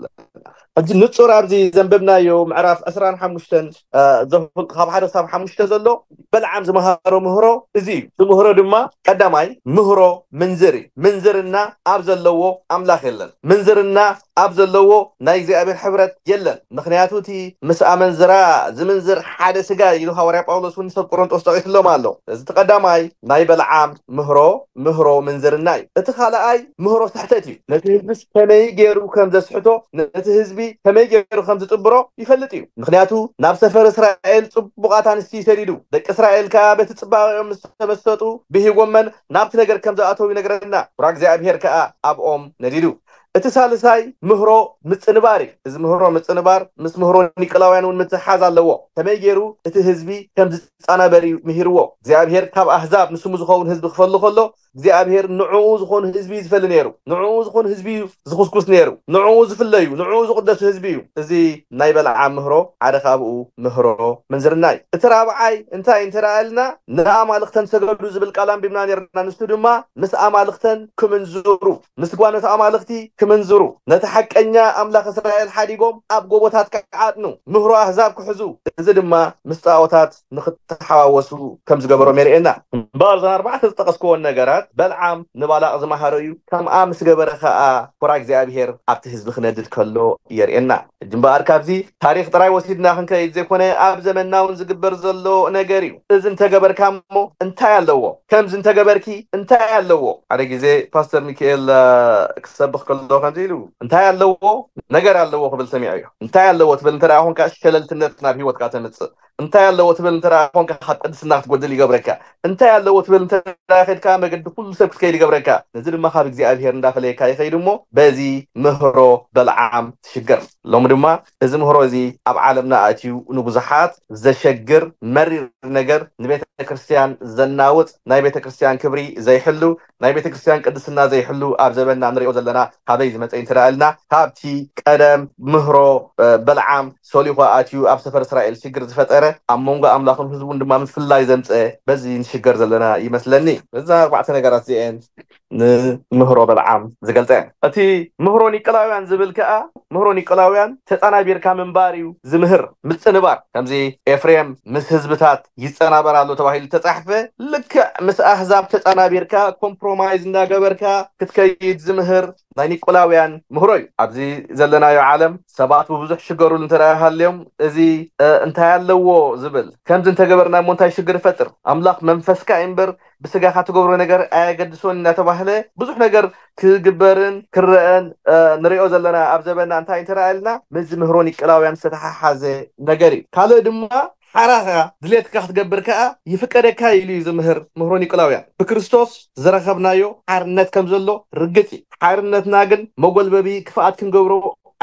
ሕጂ ንጹር ኣብዚ ዘንበብናዮ ምዕራፍ ዕስራን ሓሙሽተን፣ እ፣ ዘሁልቁ ካብ ሓደ ክሳብ ሓሙሽተ ዘሎ በልዓም ዝመሃሮ ምህሮ እዚ እዩ። እዚ ምህሮ ድማ ቀዳማይ ምህሮ ምንዝር እዩ። ምንዝርና ኣብ ዘለዎ ኣምላኽ የለን። ምንዝርና ኣብ ዘለዎ ናይ እግዚኣብሔር ሕብረት የለን። ምኽንያቱ እቲ ምስ ኣመንዝራ ዝምንዝር ሓደ ስጋ ኢሉ ሃዋርያ ጳውሎስ እውን ንሰብ ቆሮንጦስ ጠቒስሎም ኣሎ። እዚ እቲ ቀዳማይ ናይ በልዓም ምህሮ፣ ምህሮ ምንዝርና እዩ። እቲ ካልኣይ ምህሮ ስሕተት እዩ። ነቲ ህዝቢ ከመይ ገይሩ ከም ዘስሕቶ፣ ነቲ ህዝቢ ከመይ ገይሩ ከም ዝጥብሮ ይፈልጥ እዩ። ምኽንያቱ ናብ ሰፈር እስራኤል ጽቡቓት ኣንስቲ ሰዲዱ፣ ደቂ እስራኤል ከኣ በቲ ጽባቐኦም ምስ ተመሰጡ ብሂጎመን ናብቲ ነገር ከም ዝኣተው ይነግረና። ፍራ እግዚኣብሔር ከኣ ኣብኦም ነዲዱ። እቲ ሳልሳይ ምህሮ ምጽንባር እዩ። እዚ ምህሮ ምጽንባር ምስ ምህሮ ኒቆላውያን እውን ምትሕሓዝ ኣለዎ። ከመይ ገይሩ እቲ ህዝቢ ከም ዝጻናበር እዩ ምሂርዎ። እግዚኣብሔር ካብ ኣህዛብ ንስሙ ዝኸውን ህዝቢ ክፈሊ ከሎ፣ እግዚኣብሔር ንዕኡ ዝኾኑ ህዝቢ እዩ ዝፈሊ ነይሩ። ንዕኡ ዝኾኑ ህዝቢ እዩ ዝኹስኩስ ነይሩ። ንዕኡ ዝፍለዩ፣ ንዕኡ ዝቕደሱ ህዝቢ እዩ። እዚ ናይ በልዓም ምህሮ ሓደ ካብኡ ምህሮ ምንዝርና እዩ። እቲ ራብዓይ እንታይ እንተ ደኣ ኢልና፣ ንኣማልኽተን ሰገዱ ዝብል ቃል ኣንቢብና ነይርና። ንሱ ድማ ምስ ኣማልኽተን ክምንዝሩ፣ ምስ ጓኖት ኣማልኽቲ ክምንዝሩ፣ ነቲ ሓቀኛ ኣምላኽ እስራኤል ሓዲጎም ኣብ ጎቦታት ክዓጥኑ፣ ምህሮ ኣህዛብ ክሕዙ፣ እዚ ድማ ምስ ጣዖታት ንኽተሓዋወሱ ከም ዝገበሮም የርእየና። እምበኣር እዘን ኣርባዕተ ዝጠቐስክዎን ነገራት በልዓም ንባላቕ ዝመሃሮ እዩ። ከምኣ ምስ ገበረ ኸኣ ፍራ እግዚኣብሔር ኣብቲ ህዝቢ ክነድድ ከሎ የርእየና። ሕጂ እምበኣር ካብዚ ታሪኽ ጥራይ ወሲድና ክንከይድ ዘይኮነ፣ ኣብ ዘመንና እውን ዝግበር ዘሎ ነገር እዩ። እዚ እንተገበርካ እሞ እንታይ ኣለዎ? ከምዚ እንተገበርኪ እንታይ ኣለዎ? ሓደ ግዜ ፓስተር ሚካኤል፣ እ፣ ክሰብኽ ከሎ ከምዚ ኢሉ፣ "እንታይ ኣለዎ? ነገር ኣለዎ" ክብል ሰሚዐዮ። እንታይ ኣለዎ ትብል እንተ ደኣ ኾንካ፣ ሸለልትነት ናብ ህይወትካ ተምጽእ። እንታይ ኣለዎ ትብል እንተ ደኣ ኾንካ፣ ካብ ቅድስና ክትጎድል ይገብረካ። እንታይ ኣለዎ ትብል እንተ ደኣ ኸድካ፣ መገዲ ኩሉ ሰብ ክትከይድ ይገብረካ። ነዚ ድማ ካብ እግዚኣብሔር እንዳፈለየካ ይኸይድ እሞ፣ በዚ ምህሮ በልዓም ትሽገር። ሎሚ ድማ እዚ ምህሮ እዚ ኣብ ዓለምና ኣትዩ ንብዙሓት ዘሸግር መሪር ነገር፣ ንቤተ ክርስቲያን ዘናውጽ፣ ናይ ቤተ ክርስቲያን ክብሪ ዘይሕሉ፣ ናይ ቤተ ክርስቲያን ቅድስና ዘይሕሉ ኣብ ዘበንና ንሪኦ ዘለና ካበይ ዝመጸ እንተ ደኣ ኢልና፣ ካብቲ ቀደም ምህሮ፣ እ፣ በልዓም ሶሊኾ ኣትዩ ኣብ ሰፈር እስራኤል ሽግር ዝፈጠረ፣ ኣብ መንጎ ኣምላኽን ህዝቡን ድማ ምፍላይ ዘምጸ፣ በዚ ንሽገር ዘለና ይመስለኒ። በዛ ኣርባዕተ ነገራት እዚኤን ንምህሮ በልዓም ዝገልጸ። እቲ ምህሮ ኒቆላውያን ዝብል ከኣ፣ ምህሮ ኒቆላውያን ተጻናቢርካ ምንባር እዩ ዝምህር። ምጽንባር፣ ከምዚ ኤፍሬም ምስ ህዝብታት ይጸናበር ኣሎ ተባሂሉ ተጻሕፈ፣ ልክዕ ምስ ኣህዛብ ተጻናቢርካ፣ ኮምፕሮማይዝ እንዳገበርካ ክትከይድ ዝምህር ናይ ኒቆላውያን ምህሮ እዩ። ኣብዚ ዘለናዮ ዓለም ሰባት ብብዙሕ ሽገሩሉ እንተ ደኣ ሃልዮም፣ እዚ፣ እ፣ እንታይ ኣለዎ ዝብል፣ ከምዚ እንተገበርና እሞ እንታይ ሽግር ይፈጥር? ኣምላኽ መንፈስካ እዩ እምበር ብስጋኻ ትገብሮ ነገር ኣየገድሶን እናተባህለ ብዙሕ ነገር ክግበርን ክረአን ንሪኦ ዘለና ኣብ ዘበና እንታይ እንተረኣልና ምስዚ ምህሮ ኒቅላውያን ዝተተሓሓዘ ነገር እዩ። ካልእ ድማ ሓራኻ ድሌትካ ክትገብር ከኣ ይፍቀደካ ኢሉ እዩ ዝምህር ምህሮ ኒቅላውያን። ብክርስቶስ ዝረኸብናዮ ሓርነት ከም ዘሎ ርግጽ እዩ። ሓርነትና ግን መጎልበቢ ክፍኣት ክንገብሮ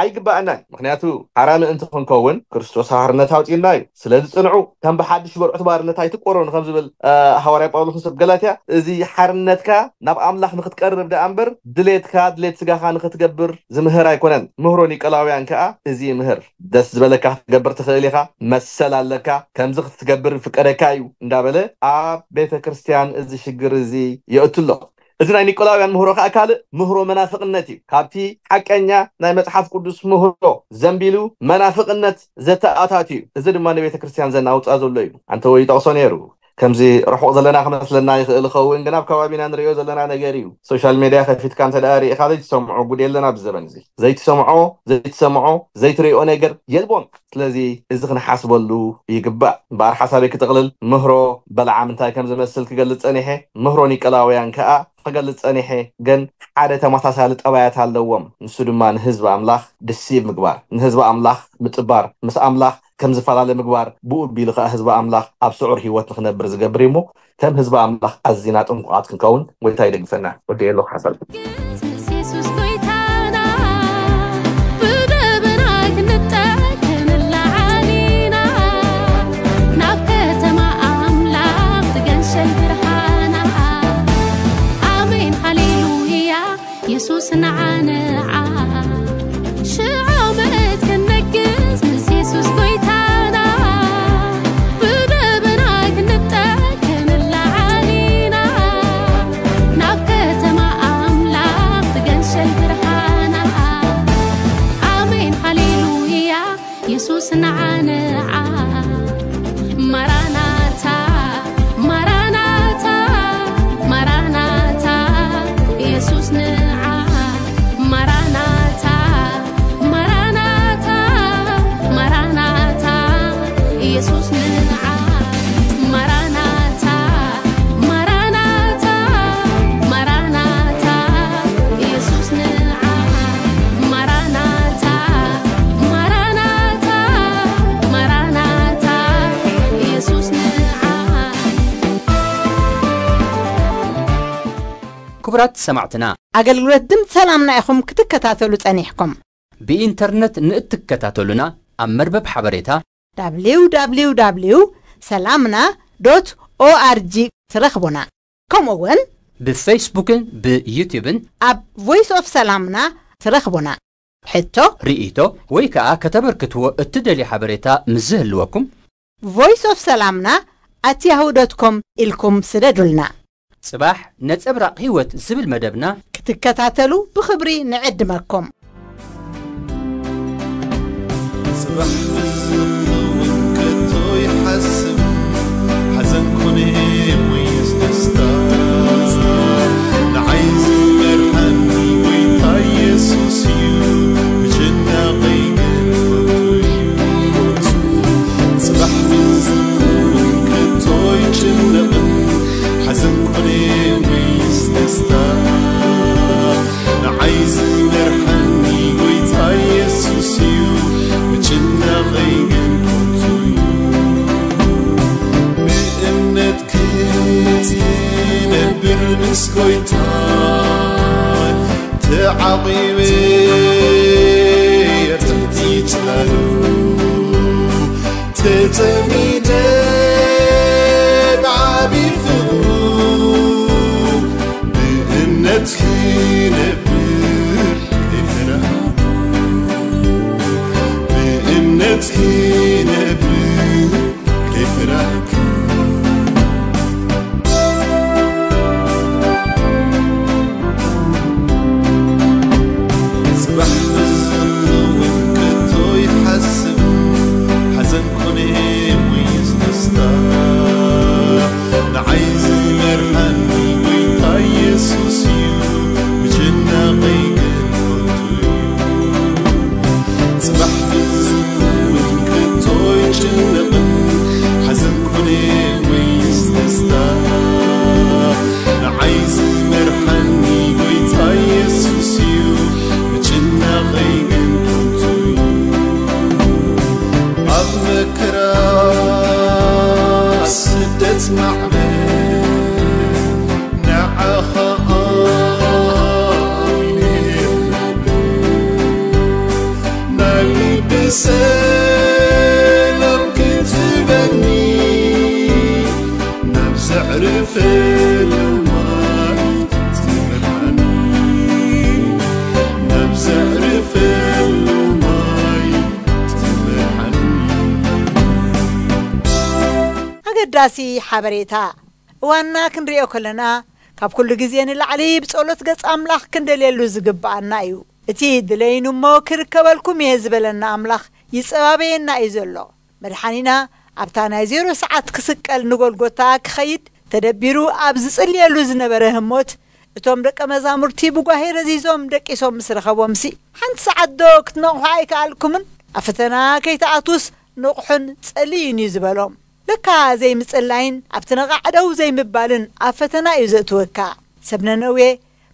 ኣይግባኣናን። ምክንያቱ ሓራ ምእንቲ ክንከውን ክርስቶስ ሓርነት ኣውፅና እዩ። ስለዚ ፅንዑ፣ ከም ብሓድሽ በርዑት ባርነት ኣይትቆረኑ ከም ዝብል ሃዋርያ ጳውሎስ ንሰብ ገላትያ፣ እዚ ሓርነትካ ናብ ኣምላኽ ንክትቀርብ ደኣ እምበር ድሌትካ ድሌት ስጋኻ ንክትገብር ዝምህር ኣይኮነን። ምህሮ ኒቀላውያን ከዓ እዚ ይምህር። ደስ ዝበለካ ክትገብር ትኽእል ኢኻ፣ መሰል ኣለካ፣ ከምዚ ክትገብር ይፍቀደካ እዩ እንዳበለ ኣብ ቤተ ክርስትያን እዚ ሽግር እዚ የእትሎ። እዚ ናይ ኒቆላውያን ምህሮ ከዓ ካልእ ምህሮ መናፍቕነት እዩ። ካብቲ ሓቀኛ ናይ መጽሓፍ ቅዱስ ምህሮ ዘንቢሉ መናፍቕነት ዘተኣታትዩ እዩ። እዚ ድማ ንቤተ ክርስትያን ዘናውፃ ዘሎ እዩ። ኣንተ ወይ ይጠቕሶ ነይሩ። ከምዚ ርሑቕ ዘለና ክመስለና ይኽእል ይኸውን፣ ግን ኣብ ከባቢና ንሪኦ ዘለና ነገር እዩ። ሶሻል ሜድያ ከፊትካ እንተ ደኣ ርኢኻ ዘይትሰምዖ ጉድ የለን ኣብዚ ዘበን እዚ። ዘይትሰምዖ፣ ዘይትሰምዖ፣ ዘይትሪኦ ነገር የልቦን። ስለዚ እዚ ክንሓስበሉ ይግባእ። እምበኣር ሓሳበይ ክጥቕልል ምህሮ በለዓም እንታይ ከም ዝመስል ክገልጽ ጸኒሐ፣ ምህሮ ኒቀላውያን ከኣ ክገልጽ ጸኒሐ። ግን ሓደ ተመሳሳሊ ጠባያት ኣለዎም። ንሱ ድማ ንህዝቢ ኣምላኽ ድሲብ ምግባር፣ ንህዝቢ ኣምላኽ ምጽባር፣ ምስ ኣምላኽ ከም ዝፈላለ ምግባር፣ ብኡ ኣቢሉ ከኣ ህዝቢ ኣምላኽ ኣብ ስዑር ህይወት ንኽነብር ዝገብር እዩ እሞ ከም ህዝቢ ኣምላኽ ኣዚና ጥንቁቓት ክንከውን ጎይታ ይደግፈና። ወዲ የሎ ሓሳብ። ኢየሱስ ጎይታና ብደበና ክንጠግ ክንለዓል ኢና ናብ ከተማ ኣምላኽ ትገንሸል ብርሃና። ኣሜን ሃሌሉያ የሱስ ንዓ ንዓ ሽዓመት ክንነግስ ምስ የሱስ ጎይታና ብደበና ክንጠግ ክንለዓል ኢና ናብ ከተማ ኣምላኽ ትገንሸል ብርሃና። ኣሜን ሃሌሉያ የሱስ ንዓ ንዓ ማራናታ ማራናታ ማራናታ የሱስ ንዓ ማራናታ ማራናታ ማራናታ የሱስ ንዓ ማራናታ ማራናታ ማራናታ የሱስ ንዓ ማራናታ ማራናታ ማራናታ የሱስ ንዓ ክቡራት ሰማዕትና፣ ኣገልግሎት ድምፂ ሰላምና ኢኹም ክትከታተሉ ጸኒሕኩም። ብኢንተርነት ንእትከታተሉና ኣብ መርበብ ሓበሬታ www ሰላምና ዶት ኦኣርጂ ትረኽቡና። ከምኡ እውን ብፌስቡክን ብዩትዩብን ኣብ ቮይስ ኦፍ ሰላምና ትረኽቡና። ሕቶ፣ ርእይቶ ወይ ከዓ ከተበርክትዎ እትደልዩ ሓበሬታ ምስ ዝህልወኩም ቮይስ ኦፍ ሰላምና ኣት ያሁ ዶት ኮም ኢልኩም ስደዱልና። ጽባሕ ነጸብራቕ ህይወት ዝብል መደብና ክትከታተሉ ብኽብሪ ንዕድመኩም። ጽባሕ ዝኸውን ከቶ ይሓስብ ሓዘን ኮነ ወይስ ደስታ ንዓይ ዝመርሓኒ ጎይታ ኢየሱስ እዩ ምጭናቐይ ግን ፈቱ እዩ ጽባሕ ዝኸውን ከቶ ይጭነቕን ሓዘን ኮነ ወይስ ደስታ ንዓይ ዝመርሓኒ ጎይታ ኢየሱስ እዩ ምጭናቐይ ግን ከንቱ እዩ ብእምነት ክነብር ምስ ጎይታ ተዓቒበ ትሕቲ ጽላሉ ተጸሚደ ብዓቢ ፍቕሩ ብእምነት ክነብር ከይፈራህኩ ብእምነት ክነብር ከይፈራህኩ ጽባሕ ዝኸውን ከቶ ይሓስብ ሓዘን ኮነ ወይስ ደስታ ንዓይ ዝመርሓኒ ጎይታ ኢየሱስ እዩ ምጭናቐይ ግን ከንቱ እዩ ጽባሕ ዝኸውን ከቶ ይጭነ ኣገዳሲ ሓበሬታ። እዋንና ክንሪኦ ከለና፣ ካብ ኩሉ ግዜ ንላዕሊ ብጸሎት ገጽ ኣምላኽ ክንደልየሉ ዝግብኣና እዩ። እቲ ድለይኑ እሞ ክርከበልኩም እየ ዝበለና ኣምላኽ ይጸባበየና እዩ ዘሎ። መድሓኒና ኣብታ ናይ ዜሮ ሰዓት ክስቀል ንጎልጎታ ክኸይድ ተደቢሩ ኣብ ዝጽልየሉ ዝነበረ ህሞት፣ እቶም ደቀ መዛሙርቲ ብጓሄ ረዚዞም ደቂሶም ምስ ረኸቦምሲ፣ ሓንቲ ሰዓት ዶ ክትነቕሑ ኣይከኣልኩምን? ኣብ ፈተና ከይትኣትዉስ ንቕሑን ጸልዩን እዩ ዝበሎም። ለካ ዘይምጽላይን ኣብቲ ነቓዕ ደው ዘይምባልን ኣብ ፈተና እዩ ዘእትወካ። ሰብ ነነዌ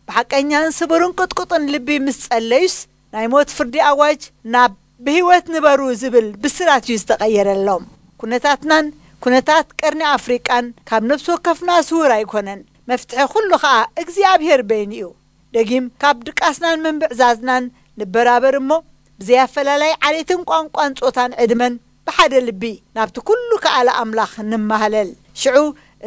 ብሓቀኛን ስቡርን ቅጥቁጥን ልቢ ምስ ጸለዩስ፣ ናይ ሞት ፍርዲ ኣዋጅ ናብ ብህይወት ንበሩ ዝብል ብስራት እዩ ዝተቐየረሎም። ኩነታትናን ኩነታት ቀርኒ ኣፍሪቃን ካብ ነፍሲ ወከፍና ስውር ኣይኮነን። መፍትሒ ኩሉ ኸኣ እግዚኣብሔር በይኑ እዩ። ደጊም ካብ ድቃስናን ምንብዕዛዝናን ንበራበር እሞ፣ ብዘይ ኣፈላላይ ዓሌትን ቋንቋን ጾታን ዕድመን ብሓደ ልቢ ናብቲ ኩሉ ከኣለ ኣምላኽ ንማህለል። ሽዑ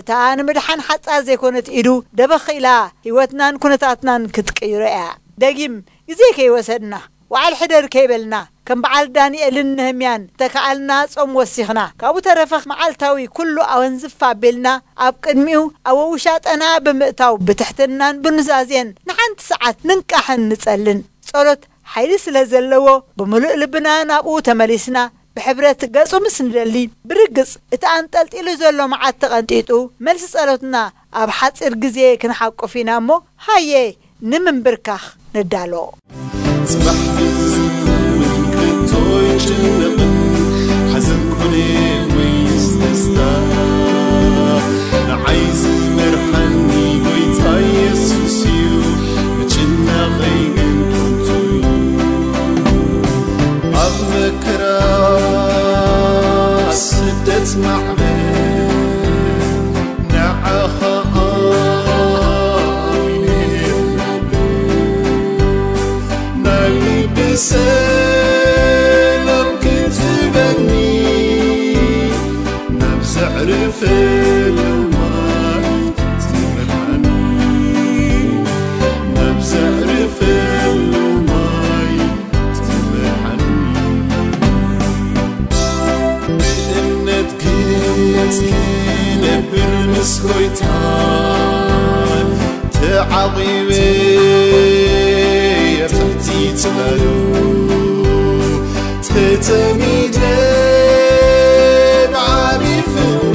እታ ንምድሓን ሓጻር ዘይኮነት ኢዱ ደበኽ ኢላ ህይወትናን ኩነታትናን ክትቅይሮ እያ። ደጊም ግዜ ከይወሰድና፣ ወዓል ሕደር ከይበልና፣ ከም በዓል ዳንኤልን ነህምያን ተከኣልና ጾም ወሲኽና፣ ካብኡ ተረፈ መዓልታዊ ኩሉ ኣወንዝፍ ኣቢልና ኣብ ቅድሚኡ ኣብ ውሻጠና ብምእታው ብትሕትናን ብኑዛዜን ንሓንቲ ሰዓት ንንቃሕን ንጸልን። ጸሎት ሓይሊ ስለ ዘለዎ ብምሉእ ልብና ናብኡ ተመሊስና ብሕብረት ገጹ ምስ ንደሊ፣ ብርግጽ እቲ ኣንጠልጢሉ ዘሎ መዓት ተቐንጢጡ፣ መልሲ ጸሎትና ኣብ ሓጺር ግዜ ክንሓቁፍ ኢና እሞ፣ ሃየ ንምንብርካኽ ንዳሎ። ጽባሕ ክዝውን ከቶ ይጭነቕን ሓዘን ኮነ ወይስ ደስታ፣ ንዓይ ዝመርሓኒ ጎይታ ኢየሱስ እዩ፣ ምጭናቐይ ግን ከንቱ እዩ። ኣብ መከራ ስደት ማዕበል ንዓኻ ኣሚነ ናይ ልቢ ሰላም ክትህበኒ፣ ናብ ዘዕርፈሉ ማይ ትመርሓኒ፣ ናብ ዘዕርፈሉ ማይ ትመርሓኒ። ብእምነት ግን ክነብር ምስ ጎይታ ተዓቒበ ኣብ ትሕቲ ጽላሉ ተጸሚደ ብዓቢ ፍቕሩ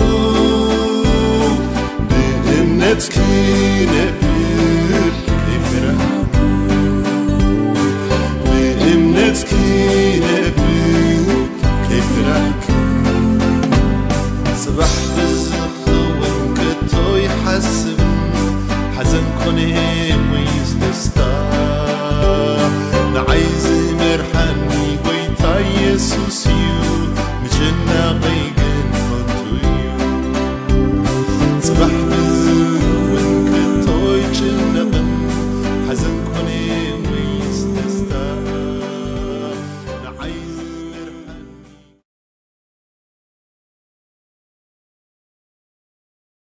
ብእምነት ክነብር